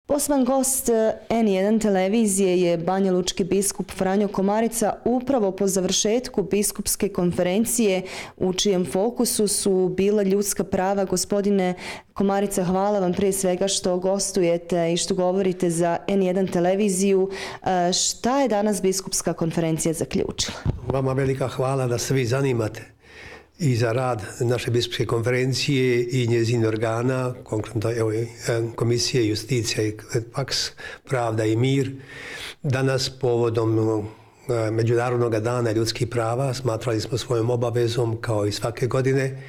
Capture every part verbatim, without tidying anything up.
Poslan gost en jedan televizije je banjalučki biskup Franjo Komarica upravo po završetku biskupske konferencije u čijem fokusu su bila ljudska prava. Gospodine Komarica, hvala vam prije svega što gostujete i što govorite za en jedan televiziju. Šta je danas biskupska konferencija zaključila? Vama velika hvala da se vi zanimate i za rad naše biskupske konferencije i njezin organa, konkretno evo, Komisije Justicija i Paks, Pravda i mir. Danas povodom Međunarodnog dana ljudskih prava smatrali smo svojom obavezom, kao i svake godine,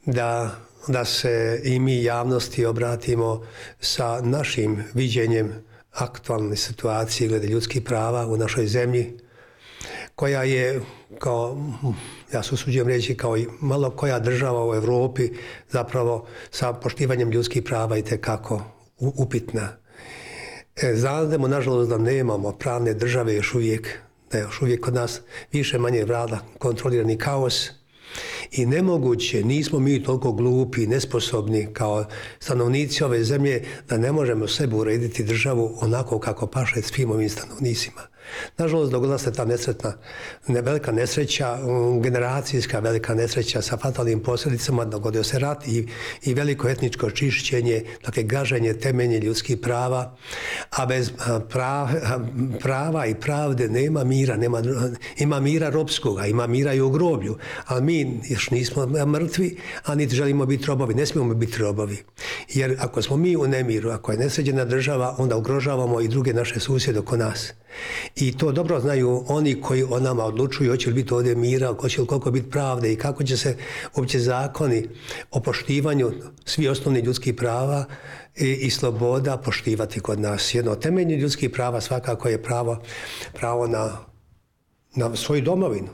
da, da se i mi javnosti obratimo sa našim viđenjem aktualne situacije glede ljudskih prava u našoj zemlji, koja je, kao, ja se usuđujem reći, kao i malo koja država u Evropi zapravo sa poštivanjem ljudskih prava i tekako upitna. E, znamo, nažalost, da nemamo pravne države još uvijek, da je još uvijek kod nas više manje vlada kontrolirani kaos i nemoguće, nismo mi toliko glupi, nesposobni kao stanovnici ove zemlje da ne možemo sebi urediti državu onako kako paše svim ovim stanovnicima. Nažalost, dogodila se ta nesretna, velika nesreća, generacijska velika nesreća sa fatalnim posljedicama, dogodio se rat i, i veliko etničko čišćenje, dakle gaženje temelje ljudskih prava, a bez prava, prava i pravde nema mira, nema, ima mira ropskoga, ima mira i u groblju, ali mi još nismo mrtvi, a niti želimo biti robovi, ne smijemo biti robovi. Jer ako smo mi u nemiru, ako je nesređena država, onda ugrožavamo i druge naše susjede oko nas. I to dobro znaju oni koji o nama odlučuju, hoće li biti ovdje mira, hoće li koliko biti pravde i kako će se uopće zakoni o poštivanju svih osnovnih ljudskih prava i, i sloboda poštivati kod nas. Jedno od temeljnih ljudskih prava svakako je pravo, pravo na, na svoju domovinu.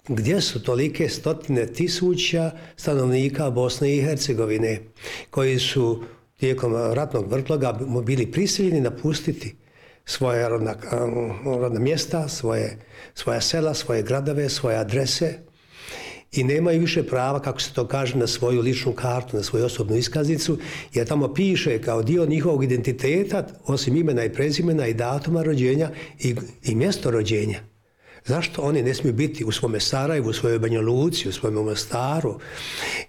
Gdje su tolike stotine tisuća stanovnika Bosne i Hercegovine koji su tijekom ratnog vrtloga bili prisiljeni napustiti svoje rodna, rodna mjesta, svoje, svoja sela, svoje gradove, svoje adrese i nemaju više prava, kako se to kaže, na svoju ličnu kartu, na svoju osobnu iskaznicu, jer tamo piše kao dio njihovog identiteta, osim imena i prezimena i datuma rođenja i, i mjesto rođenja. Zašto oni ne smiju biti u svome Sarajevu, u svojoj Banja Luci, u svojom Mostaru,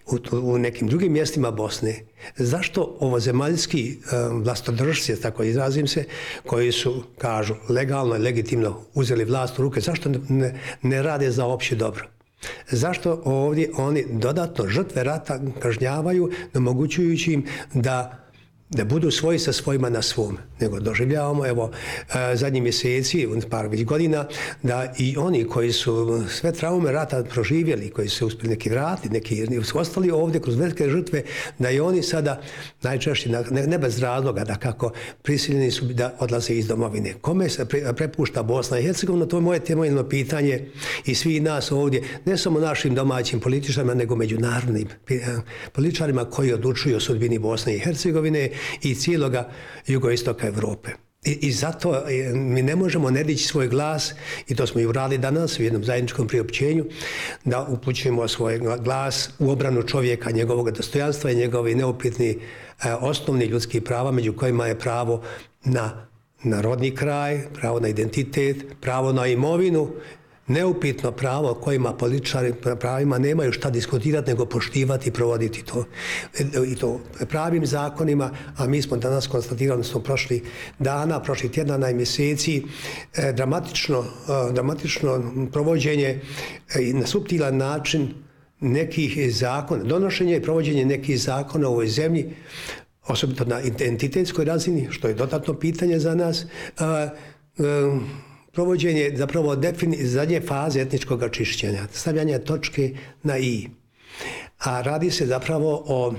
u, u nekim drugim mjestima Bosne? Zašto ovozemaljski um, vlastodržci, tako izrazim se, koji su, kažu, legalno i legitimno uzeli vlast u ruke, zašto ne, ne rade za opće dobro? Zašto ovdje oni dodatno žrtve rata kažnjavaju, omogućujući im da da budu svoji sa svojima na svom, nego doživljavamo, evo, zadnjih mjeseci, par već godina, da i oni koji su sve traume rata proživjeli, koji su uspjeli neki vratiti, neki su ostali ovdje kroz velike žrtve, da i oni sada najčešće, ne, ne bez razloga, da kako prisiljeni su da odlaze iz domovine. Kome se prepušta Bosna i Hercegovina? To je moje temeljno pitanje i svi nas ovdje, ne samo našim domaćim političarima, nego međunarodnim političarima koji odlučuju o sudbini Bosne i Hercegovine i cijeloga jugoistoka Evrope. I, I zato mi ne možemo ne dići svoj glas, i to smo i uradili danas u jednom zajedničkom priopćenju, da upućujemo svoj glas u obranu čovjeka, njegovog dostojanstva i njegovi neupitni eh, osnovni ljudski prava, među kojima je pravo na, na rodni kraj, pravo na identitet, pravo na imovinu, neupitno pravo kojima političari pravima nemaju šta diskutirati, nego poštivati i provoditi to. I to pravim zakonima, a mi smo danas konstatirali, smo prošli dana, prošli tjedana i mjeseci, eh, dramatično, eh, dramatično provođenje i eh, na suptilan način nekih zakona, donošenje i provođenje nekih zakona u ovoj zemlji, osobito na identitetskoj razini, što je dodatno pitanje za nas, eh, eh, provođenje zapravo defini, zadnje faze etničkog čišćenja, stavljanje točke na i. A radi se zapravo o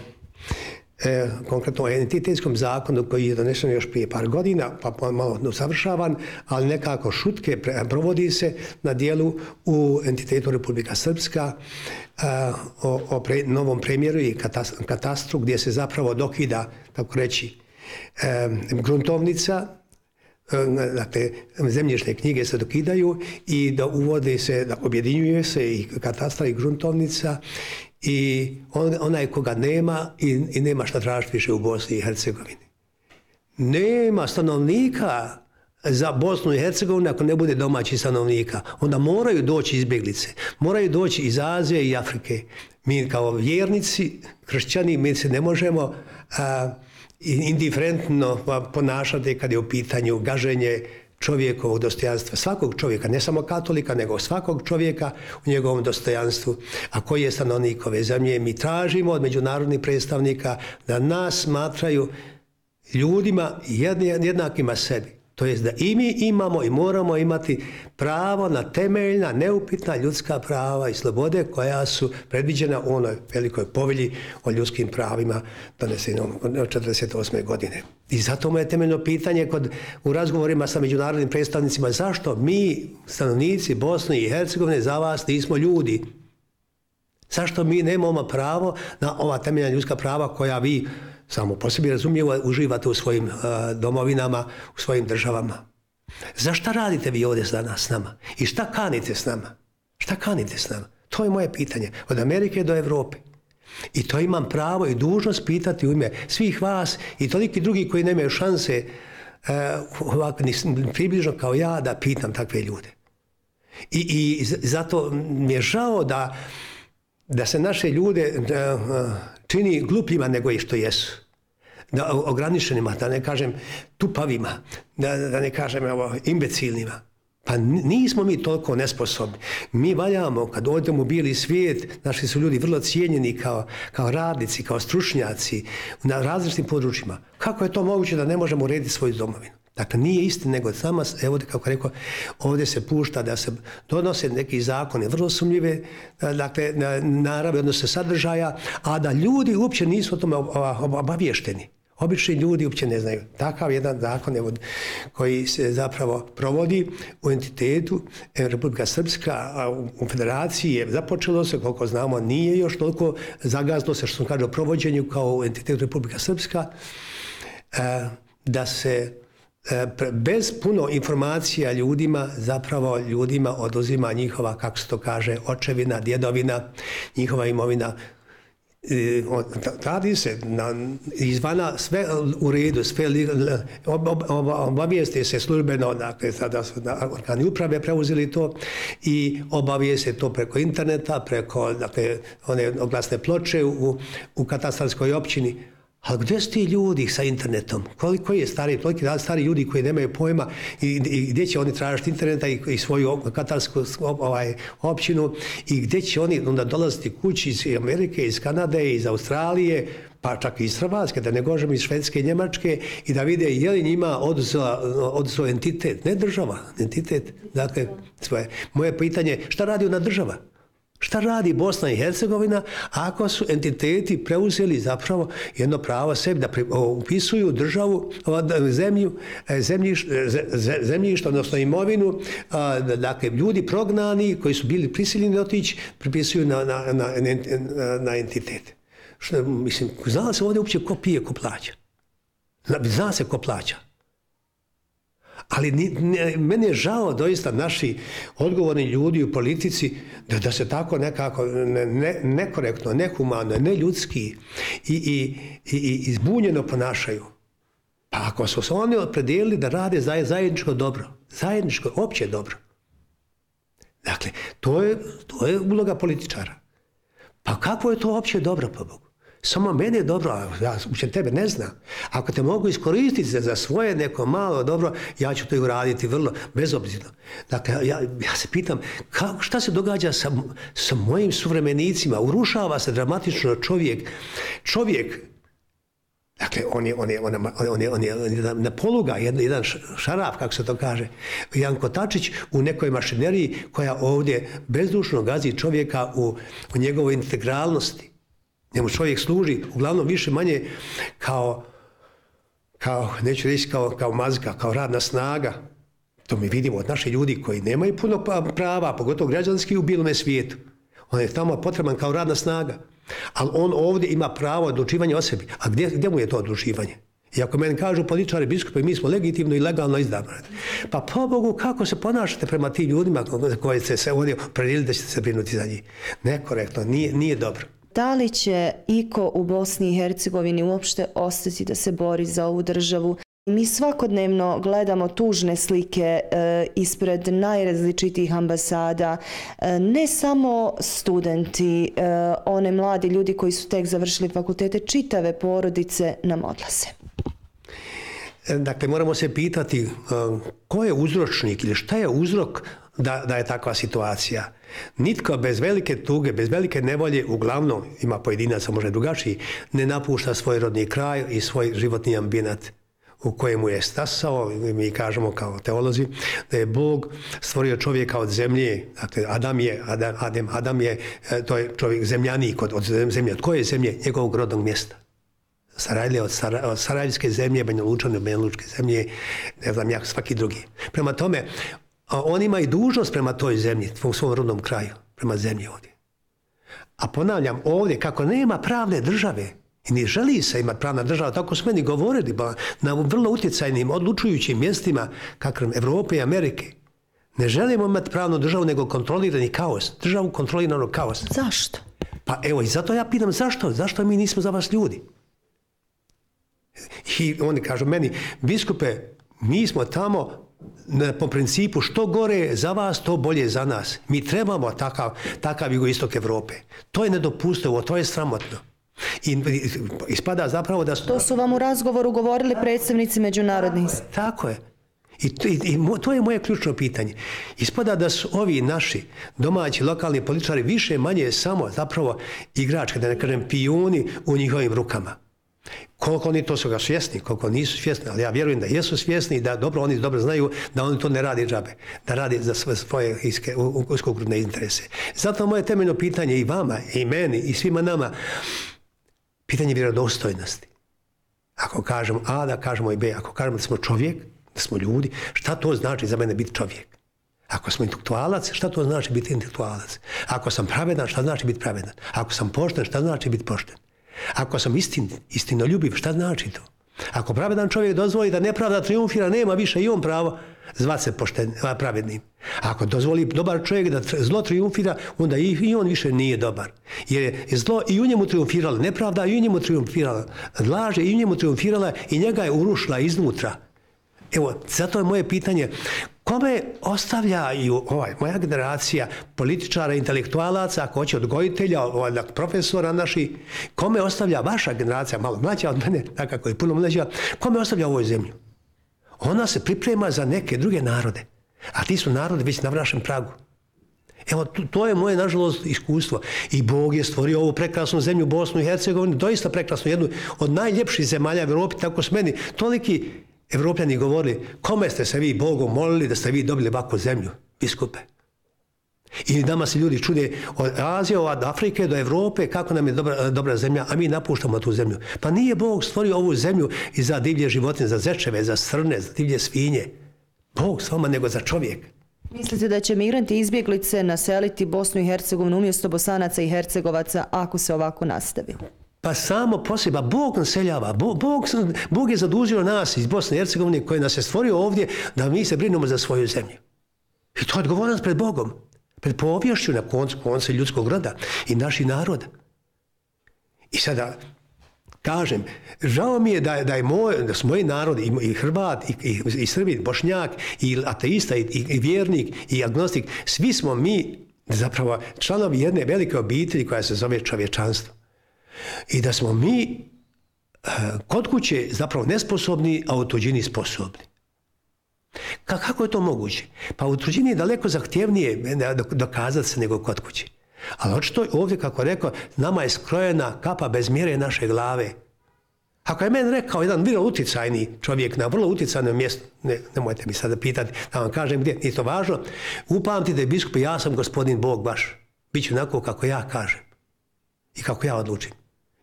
e, konkretno o entitetskom zakonu koji je donesen još prije par godina, pa malo usavršavan, ali nekako šutke provodi se na dijelu u entitetu Republika Srpska a, o, o pre, novom premjeru i katastru gdje se zapravo dokida, tako reći, e, gruntovnica, dakle, zemljišne knjige se dokidaju i da uvode se, da objedinjuje se i katastar i gruntovnica i on, onaj koga nema i, i nema šta tražiti više u Bosni i Hercegovini. nema stanovnika za Bosnu i Hercegovinu ako ne bude domaći stanovnika. Onda moraju doći izbjeglice, moraju doći iz Azije i Afrike. Mi kao vjernici, kršćani, mi se ne možemo a, indiferentno ponašati kad je u pitanju gaženje čovjekovog dostojanstva. Svakog čovjeka, ne samo katolika, nego svakog čovjeka u njegovom dostojanstvu. A koji je stanovnik ove zemlje? Mi tražimo od međunarodnih predstavnika da nas smatraju ljudima jednakima sebi. To jest da i mi imamo i moramo imati pravo na temeljna, neupitna ljudska prava i slobode koja su predviđena u onoj velikoj povelji o ljudskim pravima donesenom od četrdeset osme godine. I zato mu je temeljno pitanje kod, u razgovorima sa međunarodnim predstavnicima zašto mi, stanovnici Bosne i Hercegovine, za vas nismo ljudi. Zašto mi nemamo pravo na ova temeljna ljudska prava koja vi samo po sebi razumljivo uživate u svojim uh, domovinama, u svojim državama. Zašto radite vi ovdje danas s nama? I šta kanite s nama? Šta kanite s nama? To je moje pitanje. Od Amerike do Evrope. I to imam pravo i dužnost pitati u ime svih vas i toliki drugi koji nemaju šanse uh, ovako, približno kao ja da pitam takve ljude. I, i zato mi je žao da, da se naše ljude uh, čini glupljima nego i što jesu. Da, ograničenima, da ne kažem tupavima, da, da ne kažem evo, imbecilnima. Pa nismo mi toliko nesposobni. Mi valjamo, kad odemo u bijeli svijet, naši su ljudi vrlo cijenjeni kao, kao radnici, kao stručnjaci na različitim područjima. Kako je to moguće da ne možemo urediti svoju domovinu? Dakle, nije istina, nego sama, evo kako rekao, ovdje se pušta da se donose neki zakone vrlo sumnjive, dakle, narave, odnosno sadržaja, a da ljudi uopće nisu o tome obavješteni. Obični ljudi uopće ne znaju. Takav jedan zakon evo, koji se zapravo provodi u entitetu Republika Srpska, a u federaciji je započelo se, koliko znamo, nije još toliko zagazlo se, što sam kaže, o provođenju kao u entitetu Republika Srpska, da se bez puno informacija ljudima, zapravo ljudima oduzima njihova, kako se to kaže, očevina, djedovina, njihova imovina. Radi se na, izvana sve u redu, sve ob, ob, ob, obavijeste se službeno, dakle sada su organi uprave preuzeli to i obavijeste to preko interneta, preko dakle, one oglasne ploče u, u katastarskoj općini. Ali gdje su ti ljudi sa internetom? Koliko je stari, toliki stari ljudi koji nemaju pojma i, i gdje će oni tražiti interneta i, i svoju katastarsku ovaj, općinu i gdje će oni onda dolaziti kući iz Amerike, iz Kanade, iz Australije, pa čak i iz Hrvatske, da ne gožem iz Švedske i Njemačke i da vide je li njima oduzeo entitet, ne država, entitet, dakle svoje. Moje pitanje, šta radi ona država? Šta radi Bosna i Hercegovina ako su entiteti preuzeli zapravo jedno pravo sebi da upisuju državu, zemlju, zemljište, odnosno imovinu, dakle ljudi prognani koji su bili prisiljeni otići, pripisuju na, na, na, na entitet. Što, mislim, zna se ovdje uopće ko pije, ko plaća. Zna se ko plaća. Ali ni, ne, meni je žao doista naši odgovorni ljudi u politici da, da se tako nekako ne, ne, nekorektno, nehumano, neljudski i, i, i, i zbunjeno ponašaju. Pa ako su se oni opredijelili da rade zajedničko dobro, zajedničko, opće dobro. Dakle, to je, to je uloga političara. Pa kako je to opće dobro, po Bogu? Samo mene je dobro, a ja uopće tebe ne znam. Ako te mogu iskoristiti za svoje neko malo dobro, ja ću to i uraditi vrlo bezobzirno. Dakle, ja, ja se pitam, kako, šta se događa sa, sa mojim suvremenicima? Urušava se dramatično čovjek. Čovjek, dakle, on je, on je, on je, on je, on je, on je na poluga, jedan, jedan šaraf, kako se to kaže, jedan kotačić u nekoj mašineriji koja ovdje bezdušno gazi čovjeka u, u njegovoj integralnosti. Njemu čovjek služi uglavnom više manje kao, kao neću reći kao, kao mazga, kao radna snaga. To mi vidimo od naših ljudi koji nemaju puno prava, pogotovo građanski u bilome svijetu. On je tamo potreban kao radna snaga. Ali on ovdje ima pravo odlučivanja o sebi. A gdje, gdje mu je to odlučivanje? I ako meni kažu političari, biskupi, mi smo legitimno i legalno izabrani. Pa po Bogu, kako se ponašate prema tim ljudima koji ste se ovdje predjelili da ćete se brinuti za njih? Nekorektno, nije, nije dobro. Da li će iko u Bosni i Hercegovini uopšte ostati da se bori za ovu državu? Mi svakodnevno gledamo tužne slike e, ispred najrazličitijih ambasada, e, ne samo studenti, e, one mladi ljudi koji su tek završili fakultete, čitave porodice nam odlaze. Dakle, moramo se pitati uh, ko je uzročnik ili šta je uzrok da, da je takva situacija. Nitko bez velike tuge, bez velike nevolje, uglavnom ima pojedinaca možda drugačiji, ne napušta svoj rodni kraj i svoj životni ambijent u kojemu je stasao. Mi kažemo kao teolozi da je Bog stvorio čovjeka od zemlje. Dakle, Adam je, Adam, Adam, Adam je, to je čovjek zemljanik od, od zemlje. Od koje zemlje? Njegovog rodnog mjesta. Sarajlije od, Sara, od Sarajevske zemlje, Banja Lučane od Banja Lučke zemlje, ne znam ja, svaki drugi. Prema tome, on ima i dužnost prema toj zemlji, u svom rodnom kraju, prema zemlji ovdje. A ponavljam, ovdje, kako nema pravne države, i ne želi se imati pravna država, tako su meni govorili, ba, na vrlo utjecajnim, odlučujućim mjestima, kakvom Evrope i Amerike, ne želimo imati pravnu državu, nego kontrolirani kaos, državu kontroliranog kaosa. Zašto? Pa evo, i zato ja pitam zašto, zašto mi nismo za vas ljudi? I oni kažu meni, biskupe, mi smo tamo po principu što gore za vas, to bolje za nas. Mi trebamo takav, takav jugoistok Evrope. To je nedopustivo, to je sramotno. I ispada zapravo da su... To su vam u razgovoru govorili predstavnici međunarodnih. Tako je. I, i, i to je moje ključno pitanje. Ispada da su ovi naši domaći lokalni političari više manje samo zapravo igračke, da ne kažem pijuni u njihovim rukama. Koliko oni to su ga svjesni, koliko nisu svjesni, ali ja vjerujem da jesu svjesni i da dobro oni dobro znaju da oni to ne radi džabe, da radi za svoje, svoje iske, uskogrudne interese. Zato moje temeljno pitanje i vama, i meni, i svima nama, pitanje vjerodostojnosti. Ako kažemo A, da kažemo i B, ako kažemo da smo čovjek, da smo ljudi, šta to znači za mene biti čovjek? Ako smo intelektualac, šta to znači biti intelektualac? Ako sam pravedan, šta znači biti pravedan? Ako sam pošten, šta znači biti pošten? Ako sam istin, istinoljubiv, šta znači to? Ako pravedan čovjek dozvoli da nepravda triumfira, nema više i on pravo zvati se pošten, pravednim. Ako dozvoli dobar čovjek da zlo triumfira, onda i on više nije dobar. Jer je zlo i u njemu triumfirala, nepravda i u njemu triumfirala, laže i u njemu triumfirala i njega je urušila iznutra. Evo, zato je moje pitanje, kome ostavljaju ovaj, moja generacija političara, intelektualaca, ako hoće odgojitelja, ovaj, profesora naši, kome ostavlja vaša generacija, malo mlađa od mene, nekako je puno mlađa, kome ostavlja ovoj zemlju? Ona se priprema za neke druge narode, a ti su narodi već na našem pragu. Evo, to je moje, nažalost, iskustvo. I Bog je stvorio ovu prekrasnu zemlju, Bosnu i Hercegovinu, doista prekrasnu, jednu od najljepših zemalja u Evropi, tako s meni, toliki Evropljani govorili, kome ste se vi Bogom molili da ste vi dobili ovakvu zemlju, biskupe? I nama se ljudi čude od Azije, od Afrike do Evrope, kako nam je dobra, dobra zemlja, a mi napuštamo tu zemlju. Pa nije Bog stvorio ovu zemlju i za divlje životinje, za zečeve, za srne, za divlje svinje. Bog s vama nego za čovjek. Mislite da će migranti izbjeglice naseliti Bosnu i Hercegovinu umjesto Bosanaca i Hercegovaca ako se ovako nastavi? Pa samo poseba, Bog naseljava, Bog, Bog, Bog je zadužio nas iz Bosne i Hercegovine koji nas je stvorio ovdje da mi se brinemo za svoju zemlju. I to je odgovornost pred Bogom, pred povješću na koncu konca ljudskog roda i naših naroda. I sada kažem, žao mi je da, da, je moj, da su moji narodi, i, i Hrvat, i, i, i Srbi, i Bošnjak, i ateista, i, i vjernik, i agnostik, svi smo mi zapravo članovi jedne velike obitelji koja se zove čovječanstvo. I da smo mi kod kuće zapravo nesposobni, a u tuđini sposobni. Kako je to moguće? Pa u tuđini je daleko zahtjevnije dokazati se nego kod kuće. Ali očito ovdje, kako rekao, nama je skrojena kapa bez mjere naše glave. Ako je meni rekao jedan vrlo utjecajni čovjek na vrlo utjecajnom mjestu, ne, nemojte mi sada pitati da vam kažem gdje, nije to važno, upamtite biskupe, ja sam gospodin Bog baš. Biću onako kako ja kažem i kako ja odlučim.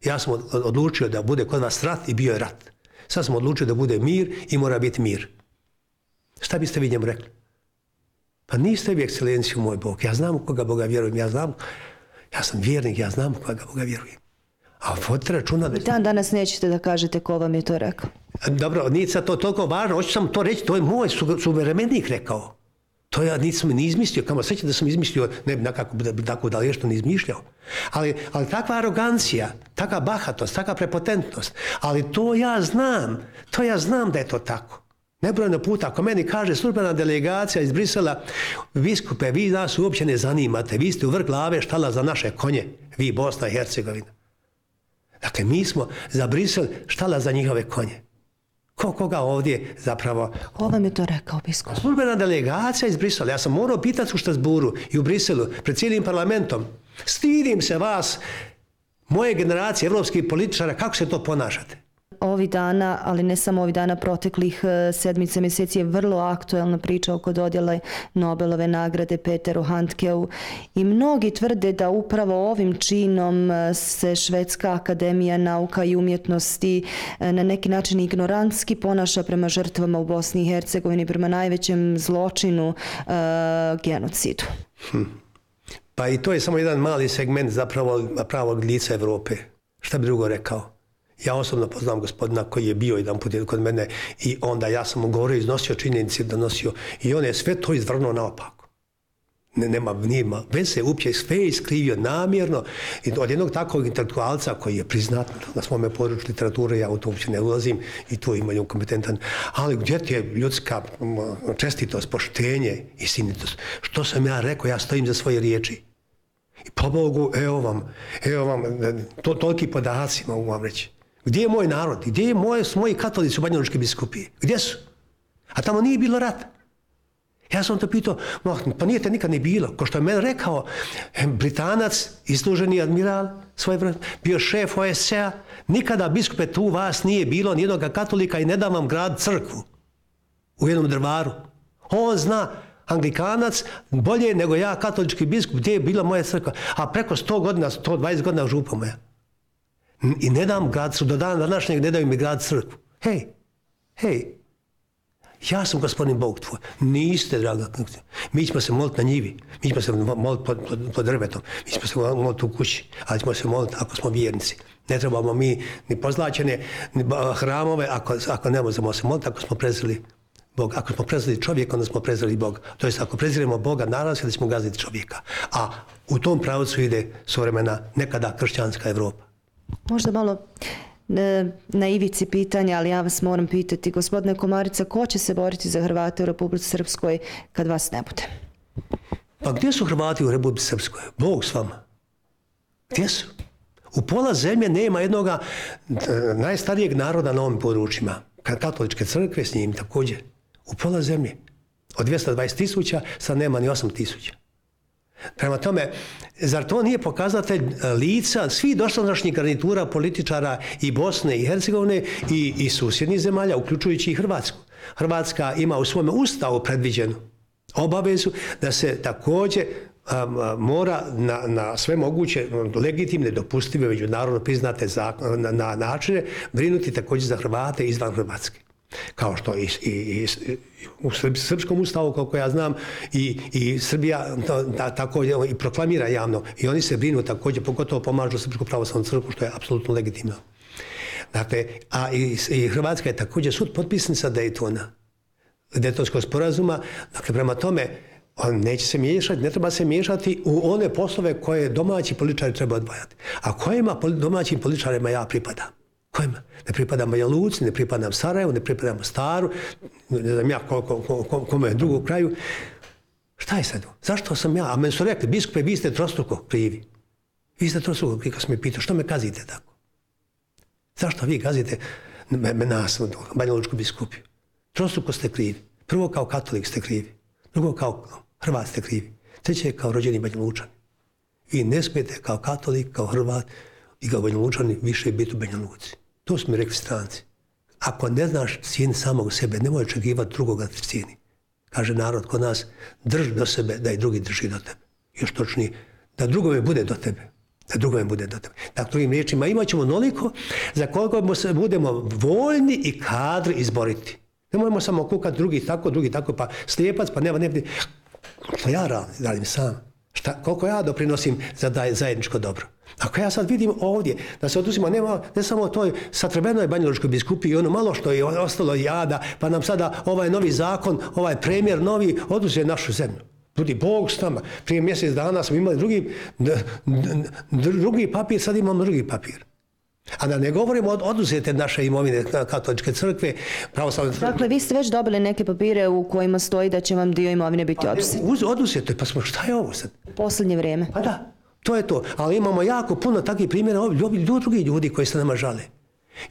Ja sam odlučio da bude kod vas rat i bio je rat. Sad sam odlučio da bude mir i mora biti mir. Šta biste vi njemu rekli? Pa niste vi ekscelenciju moj Bog. Ja znam u koga Boga vjerujem. Ja znam, ja sam vjernik, ja znam u koga Boga vjerujem. A vodite računa da... Dan danas nećete da kažete ko vam je to rekao. Dobro, nije sad to toliko važno. Hoću sam to reći, to je moj suveremenik rekao. To ja nisam ni izmislio, kamo sreće da sam izmislio, ne bi nekako tako da li što ne izmišljao. Ali, ali takva arogancija, takva bahatost, takva prepotentnost, ali to ja znam, to ja znam da je to tako. Nebrojeno puta, ako meni kaže službena delegacija iz Brisela, biskupe, vi nas uopće ne zanimate, vi ste u vrh glave štala za naše konje, vi Bosna i Hercegovina. Dakle, mi smo za Brisel štala za njihove konje. Ko koga ovdje zapravo... Ko vam je to rekao, biskup? Službena delegacija iz Brisela. Ja sam morao pitati u Štrasburu i u Briselu, pred cijelim parlamentom. Stidim se vas, moje generacije evropskih političara, kako se to ponašate? Ovi dana, ali ne samo ovi dana, proteklih sedmice mjeseci je vrlo aktuelna priča oko dodjele Nobelove nagrade Peteru Handkeu i mnogi tvrde da upravo ovim činom se Švedska akademija nauka i umjetnosti na neki način ignorantski ponaša prema žrtvama u Bosni i Hercegovini, prema najvećem zločinu, uh, genocidu. Hm. Pa i to je samo jedan mali segment zapravo pravog lica Evrope. Šta bi drugo rekao? Ja osobno poznam gospodina koji je bio jedan put kod mene i onda ja sam mu govorio, iznosio činjenice, donosio i on je sve to izvrnuo naopako. Ne, nema, nima, već se uopće sve iskrivio namjerno i od jednog takvog intelektualca koji je priznat na svome području literature, ja u to uopće ne ulazim i tu imaju kompetentan, ali gdje ti je ljudska čestitost, poštenje i istinitost? Što sam ja rekao, ja stojim za svoje riječi. I po Bogu, evo vam, evo vam, to, toliki podaci mogu vam reći. Gdje je moj narod? Gdje je moje, moji katolici u Banjalučke biskupije? Gdje su? A tamo nije bilo rata. Ja sam to pitao, pa nije te nikad ni bilo. Ko što je meni rekao, Britanac, isluženi admiral, svoj vrlo, bio šef O S C-a, nikada biskupe tu vas nije bilo, nijednog katolika i ne dam vam grad crkvu u jednom drvaru. On zna, Anglikanac, bolje nego ja, katolički biskup, gdje je bila moja crkva. A preko sto godina, sto dvadeset godina župa moja. I ne dam grad crkvu, do dana današnjeg ne daju mi grad crkvu. Hej, hej, ja sam gospodin Bog tvoj. Niste, draga. Mi ćemo se moliti na njivi, mi ćemo se moliti pod, pod, pod drvetom, mi ćemo se moliti u kući, ali ćemo se moliti ako smo vjernici. Ne trebamo mi ni pozlačene ni hramove ako, ako ne možemo se moliti, ako smo prezreli Bog. Ako smo prezreli čovjeka, onda smo prezreli Boga. To jest, ako preziremo Boga, naravno se da ćemo gaziti čovjeka. A u tom pravcu ide suvremena, nekada kršćanska Evropa. Možda malo na ivici pitanja, ali ja vas moram pitati, gospodine Komarica, ko će se boriti za Hrvate u Republici Srpskoj kad vas ne bude? Pa gdje su Hrvati u Republici Srpskoj? Bog s vama. Gdje su? U pola zemlje nema jednoga najstarijeg naroda na ovim područjima. Katoličke crkve s njim također. U pola zemlje. Od dvjesto dvadeset tisuća sad nema ni osam tisuća. Prema tome, zar to nije pokazatelj lica svih dosadašnjih garnitura političara i Bosne i Hercegovine i, i susjednih zemalja, uključujući i Hrvatsku? Hrvatska ima u svome ustavu predviđenu obavezu da se također um, mora na, na sve moguće legitimne, dopustive, međunarodno priznate zakon, na, na načine brinuti također za Hrvate izvan Hrvatske. Kao što i, i, i u srpskom ustavu, koliko ja znam, i, i Srbija to, da, tako i proklamira javno. I oni se brinu također, pogotovo pomažu Srpsku pravoslavnu crkvu, što je apsolutno legitimno. Dakle, a i, i Hrvatska je također sud potpisnica Daytona, Daytonskog sporazuma. Dakle, prema tome, on neće se miješati, ne treba se miješati u one poslove koje domaći političari treba odvajati. A kojima domaćim političarima ja pripadam? Kojima? Ne pripadam Banja Luci, ne pripadam Sarajevu, ne pripadam Staru, ne znam ja ko, ko, ko, ko, kome drugog kraju. Šta je sad? Zašto sam ja? A meni su rekli, biskupe, vi ste trostruko krivi. Vi ste trostruko krivi, kad sam me pitao, što me kazite tako? Zašto vi kazite me, me nas, Banja Lučku biskupiju? Trostruko ste krivi. Prvo kao katolik ste krivi. Drugo kao Hrvat ste krivi. Treće kao rođeni Banja Lučani. Vi ne smijete kao katolik, kao Hrvat i kao Banja Lučani više biti u Banja Luci. To su mi rekli stranci. Ako ne znaš cijeni samog sebe, nemoj očekivati drugoga da cijeni. Kaže narod kod nas, drži do sebe da i drugi drži do tebe. Još točnije, da drugome bude do tebe. Da drugome bude do tebe. Dakle, drugim riječima, imat ćemo onoliko za koliko se budemo voljni i kadri izboriti. Ne možemo samo kukati drugi tako, drugi tako, pa slijepac, pa nema, nema. Što ja radim, radim sam. Šta, koliko ja doprinosim za da je zajedničko dobro. Ako ja sad vidim ovdje da se oduzima, nema, ne samo toj satrbenoj banjalučkoj biskupiji i ono malo što je ostalo jada, pa nam sada ovaj novi zakon, ovaj premijer novi oduzuje našu zemlju. Ljudi, Bog s nama. Prije mjesec dana smo imali drugi, drugi papir, sad imamo drugi papir. A da ne govorimo od oduzete naše imovine katoličke crkve, pravoslavne crkve. Dakle, vi ste već dobili neke papire u kojima stoji da će vam dio imovine biti oduzet. Pa, oduzeto je, pa smo, šta je ovo sad? U posljednje vrijeme. Pa da, to je to. Ali imamo jako puno takvih primjera, drugi ljudi koji se nama žale.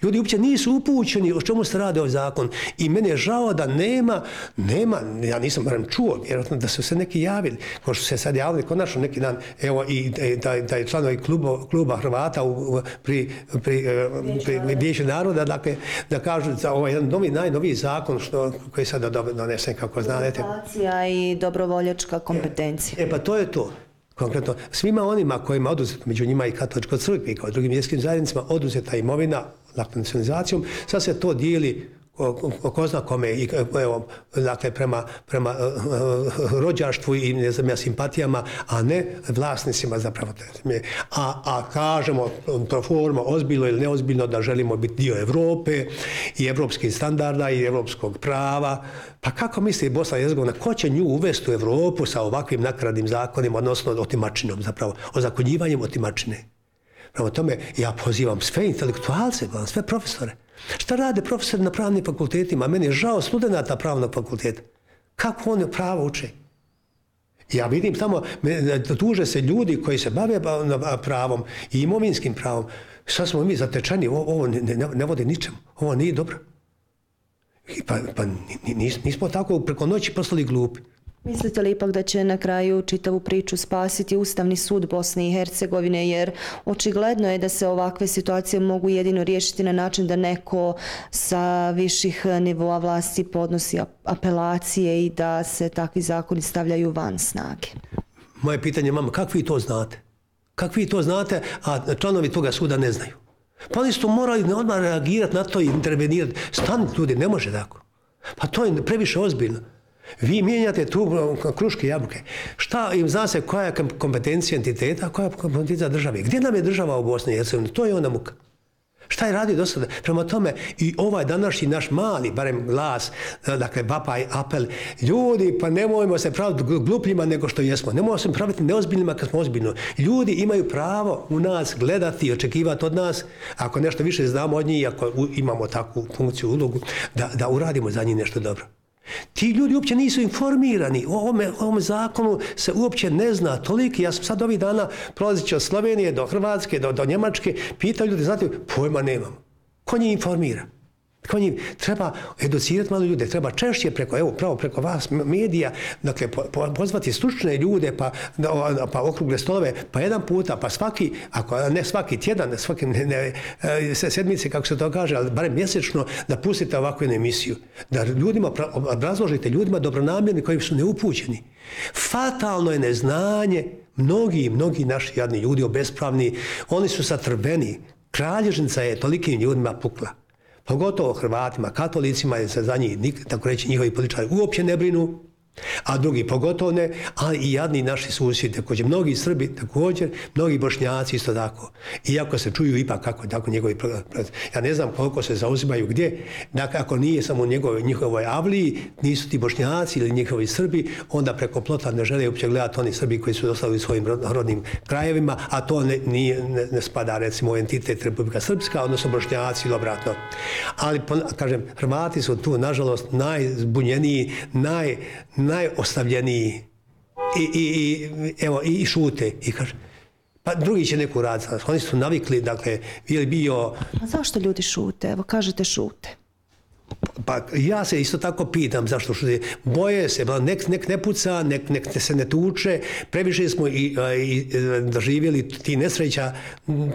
Ljudi uopće nisu upućeni o čemu se radi ovaj zakon. I meni je žao da nema, nema, ja nisam barem čuo, vjerojatno da su se neki javili, ko što se sad javili konačno neki dan, evo i da, da je članovi kluba, kluba Hrvata u, pri, pri, pri Vijeću naroda, dakle, da kažu za ovaj jedan novi, najnoviji zakon što, koji je sada donesen, kako znate. Edukacija i dobrovoljačka kompetencija. E pa to je to. Konkretno, svima onima kojima oduzeto, među njima i katoličkoj crkvi, kao i drugim vjerskim zajednicama, oduzeta imovina, dakle, nacionalizacijom, sad se to dijeli ko, ko zna kome, i, evo, dakle, prema, prema uh, rođaštvu i ne znam ja, simpatijama, a ne vlasnicima zapravo. A, a kažemo pro forma, ozbiljno ili neozbiljno, da želimo biti dio Evrope i evropskih standarda i evropskog prava. Pa kako misli Bosna i Hercegovina, ko će nju uvesti u Evropu sa ovakvim nakaradnim zakonima, odnosno otimačinom zapravo, ozakonjivanjem otimačine? Prema tome, ja pozivam sve intelektualce, sve profesore. Šta rade profesori na pravnim fakultetima? Meni je žao studenta pravnog fakulteta. Kako oni pravo uče? Ja vidim tamo, tuže se ljudi koji se bave pravom i imovinskim pravom. Sad smo mi zatečeni, ovo ne, ne, ne vodi ničemu, ovo nije dobro. Pa, pa nis, nismo tako preko noći postali glupi. Mislite li ipak da će na kraju čitavu priču spasiti Ustavni sud Bosne i Hercegovine, jer očigledno je da se ovakve situacije mogu jedino riješiti na način da neko sa viših nivoa vlasti podnosi apelacije i da se takvi zakoni stavljaju van snage? Moje pitanje, mama, kako vi to znate? Kako vi to znate, a članovi toga suda ne znaju? Pa oni su morali odmah reagirati na to i intervenirati. Stanite ljudi, ne može tako. Pa to je previše ozbiljno. Vi mijenjate tu kruške jabuke. Šta im zna se koja je kompetencija entiteta, a koja je kompetencija države? Gdje nam je država u Bosni i Hercegovini? To je ona muka. Šta je radio do sada? Prema tome i ovaj današnji naš mali, barem glas, dakle vapaj, apel, ljudi, pa nemojmo se praviti glupljima nego što jesmo. Nemojmo se praviti neozbiljnima kad smo ozbiljno. Ljudi imaju pravo u nas gledati i očekivati od nas, ako nešto više znamo od njih, ako imamo takvu funkciju, ulogu, da, da uradimo za njih nešto dobro. Ti ljudi uopće nisu informirani. O ovome, ovome zakonu se uopće ne zna toliki. Ja sam sad ovih dana prolazići od Slovenije do Hrvatske, do, do Njemačke, pitaju ljudi, znate, pojma nemam. Ko njih informira? Ko njih treba educirati malo ljude, treba češće preko, evo, pravo preko vas, medija, dakle, po, po, pozvati stručne ljude, pa, pa okrugle stolove, pa jedan puta, pa svaki, ako ne svaki tjedan, svaki ne, ne, sedmice, kako se to kaže, ali barem mjesečno, da pustite ovakvu emisiju. Da ljudima, obrazložite ljudima dobronamjerni koji su neupućeni. Fatalno je neznanje, mnogi, mnogi naši jadni ljudi, obespravni, oni su satrveni. Kralježnica je tolikim ljudima pukla. Pogotovo Hrvatima, katolicima, jer se za njih, tako reći, njihovi političari uopće ne brinu, a drugi pogotovo ne, ali i jadni naši susjedi, također, mnogi Srbi također, mnogi Bošnjaci isto tako. Iako se čuju ipak kako tako njegovi, ja ne znam koliko se zauzimaju gdje, dakle, ako nije samo u njegovoj, njihovoj avliji, nisu ti Bošnjaci ili njihovi Srbi, onda preko plota ne žele uopće gledati oni Srbi koji su ostali u svojim rodnim krajevima, a to ne, nije, ne, ne spada recimo u entitet Republika Srpska, odnosno Bošnjaci ili obratno. Ali, kažem, Hrvati su tu, nažalost, najzbunjeniji, naj najostavljeniji i, i, i, evo, i šute. I kaže, pa drugi će neku raditi. Oni su navikli, dakle, je bio... A zašto ljudi šute? Evo, kažete šute. Pa ja se isto tako pitam zašto šute. Boje se, nek, nek ne puca, nek, nek se ne tuče, previše smo i, i doživjeli ti nesreća,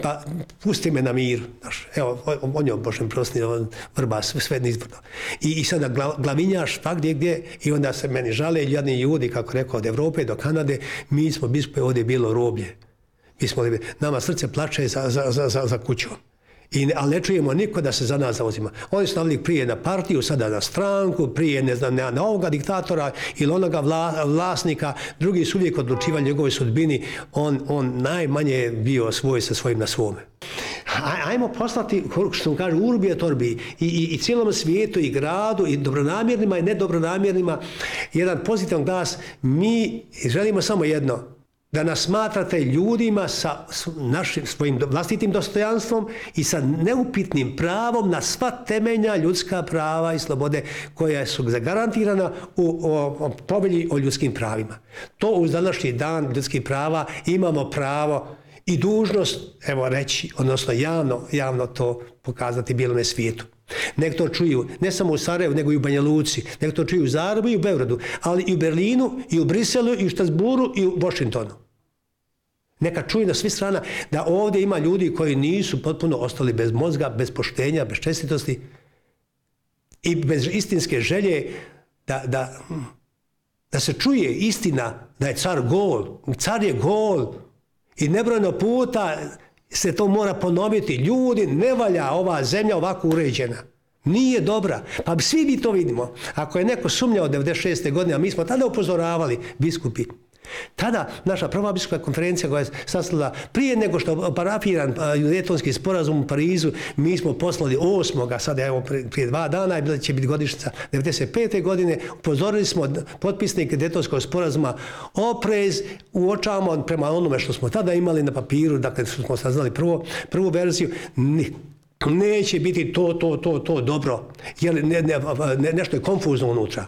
pa pusti me na mir. Evo, on je Božem prosni, vrba, sve nizbrno. I, i sada glavinjaš pa gdje gdje i onda se meni žale jadni ljudi, kako rekao, od Evrope do Kanade, mi smo bispo ovdje bilo roblje. Mi smo, nama srce plače za, za, za, za kućom. I ne, ali ne čujemo niko da se za nas zauzima. Oni su stavili prije na partiju, sada na stranku, prije ne znam, na ovoga diktatora ili onoga vla, vlasnika. Drugi su uvijek odlučivali njegove sudbini. On, on najmanje bio svoj sa svojim na svome. Ajmo poslati, što kaže, urbi et orbi i, i, i cijelom svijetu i gradu i dobronamjernima i nedobronamjernima jedan pozitivan glas. Mi želimo samo jedno, da nas smatrate ljudima sa našim svojim vlastitim dostojanstvom i sa neupitnim pravom na sva temeljna ljudska prava i slobode koja su zagarantirana u o, o, povelji o ljudskim pravima. To uz današnji dan ljudskih prava imamo pravo i dužnost, evo reći, odnosno javno, javno to pokazati bijelome svijetu. Nek to čuju ne samo u Sarajevu, nego i u Banja Luci, nek to čuju u Zagrebu i u Beogradu, ali i u Berlinu, i u Briselu, i u Strasburu, i u Washingtonu. Neka čuju na svih strana da ovdje ima ljudi koji nisu potpuno ostali bez mozga, bez poštenja, bez čestitosti i bez istinske želje da, da, da se čuje istina da je car gol. Car je gol i nebrojeno puta se to mora ponoviti. Ljudi, ne valja ova zemlja ovako uređena. Nije dobra. Pa svi mi to vidimo. Ako je neko sumnjao devedeset šeste godine, a mi smo tada upozoravali biskupi, tada naša prva biskupska konferencija koja je sastala prije nego što parafiran Daytonski sporazum u Parizu, mi smo poslali osmoga, sada evo prije dva dana i će biti godišnjica devedeset pete godine, upozorili smo potpisnike Daytonskog sporazuma, oprez, uočavamo prema onome što smo tada imali na papiru, dakle smo saznali prvo, prvu verziju, neće biti to, to, to, to dobro, jer ne, ne, ne, nešto je konfuzno unutra.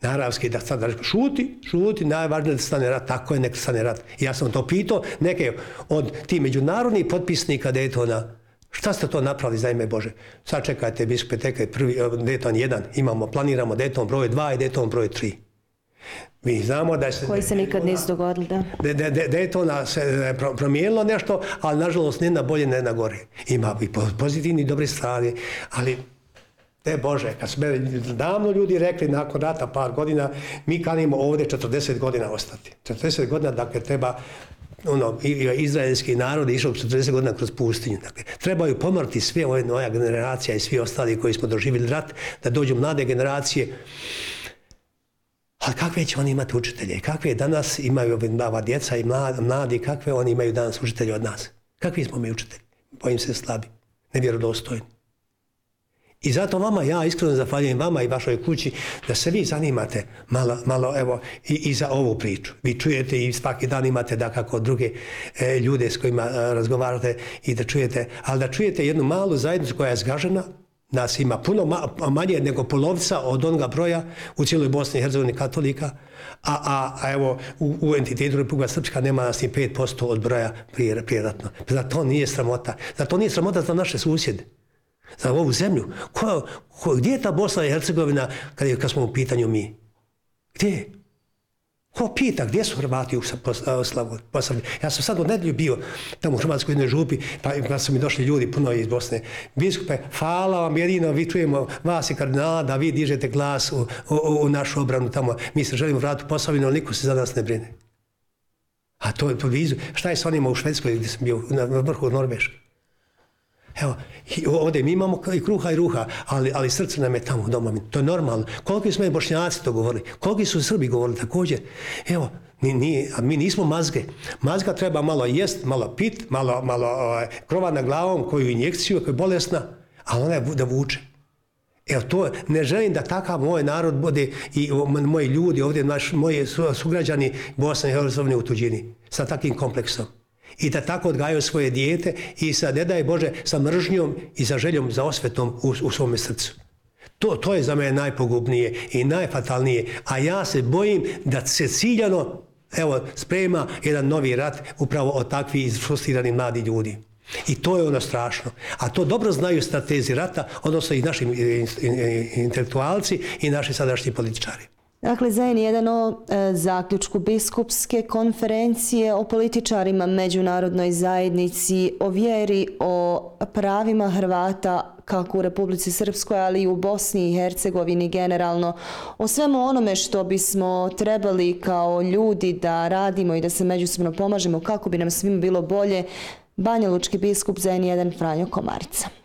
Naravski da sad šuti, šuti, najvažnije da stane rat, tako je, nek stane rat. I ja sam to pitao neke od tih međunarodnih potpisnika Daytona, šta ste to napravili za ime Bože? Sad čekajte, biskupe, tekaj prvi, Dayton jedan, imamo, planiramo Dayton broj dva i Dayton broj tri. Mi znamo da se... Koji se nikad nisu dogodili, da. Daytona se promijenilo nešto, ali nažalost ne na bolje, ne na gore. Ima i pozitivni i dobri strani, ali... Te Bože, kad su me davno ljudi rekli nakon rata par godina, mi kanimo ovdje četrdeset godina ostati. četrdeset godina, dakle, treba, ono, izraelski narod je išao četrdeset godina kroz pustinju. Dakle, trebaju pomrti sve ove moja generacija i svi ostali koji smo doživjeli rat, da dođu mlade generacije. Ali kakve će oni imati učitelje? Kakve danas imaju ova djeca i mladi, kakve oni imaju danas učitelje od nas? Kakvi smo mi učitelji? Bojim se slabi, nevjerodostojni. I zato vama, ja iskreno zahvaljujem vama i vašoj kući da se vi zanimate malo, malo evo, i, i za ovu priču. Vi čujete i svaki dan imate da kako druge e, ljude s kojima e, razgovarate i da čujete, ali da čujete jednu malu zajednicu koja je zgažena, nas ima puno ma, manje nego polovica od onoga broja u cijeloj Bosni i Hercegovini katolika, a, a, a evo u, u entitetu Republika Srpska nema nas ni pet posto od broja prije, prijeratno. Zato nije sramota. Zato nije sramota za naše susjede. Za ovu zemlju. Ko, ko, gdje je ta Bosna i Hercegovina kad, je, kad smo u pitanju mi? Gdje je? Ko pita gdje su Hrvati u Posavlju? Ja sam sad u nedjelju bio tamo u Hrvatskoj jednoj župi, pa, pa su mi došli ljudi puno iz Bosne. Biskupe, hvala vam, jedino vi čujemo vas i kardinala da vi dižete glas u, u, u našu obranu tamo. Mi se želimo vratiti u Posavinu, ali niko se za nas ne brine. A to je po vizu. Šta je s onima u Švedskoj gdje sam bio na vrhu Norveške? Evo, ovdje mi imamo i kruha i ruha, ali, ali srce nam je tamo doma. To je normalno. Koliki smo i Bošnjaci to govorili? Koliki su Srbi govorili također? Evo, mi, mi, a mi nismo mazge. Mazga treba malo jest, malo pit, malo, malo o, krova na glavom, koju injekciju, koja je bolesna, ali ona je da vuče. Evo, to ne želim da takav moj narod bude i moji ljudi ovdje, naš, moji sugrađani Bosne i Hercegovine u tuđini, sa takvim kompleksom. I da tako odgajaju svoje dijete i sa, ne daj Bože, sa mržnjom i sa željom za osvetom u, u svome srcu. To, to je za mene najpogubnije i najfatalnije. A ja se bojim da se ciljano, evo, sprema jedan novi rat upravo od takvih izfrustrirani mladi ljudi. I to je ono strašno. A to dobro znaju stratezi rata, odnosno i naši intelektualci i naši sadašnji političari. Dakle, za en jedan o e, zaključku biskupske konferencije, o političarima, međunarodnoj zajednici, o vjeri, o pravima Hrvata kako u Republici Srpskoj, ali i u Bosni i Hercegovini generalno, o svemu onome što bismo trebali kao ljudi da radimo i da se međusobno pomažemo kako bi nam svima bilo bolje. Banja Lučki biskup za N jedan Franjo Komarica.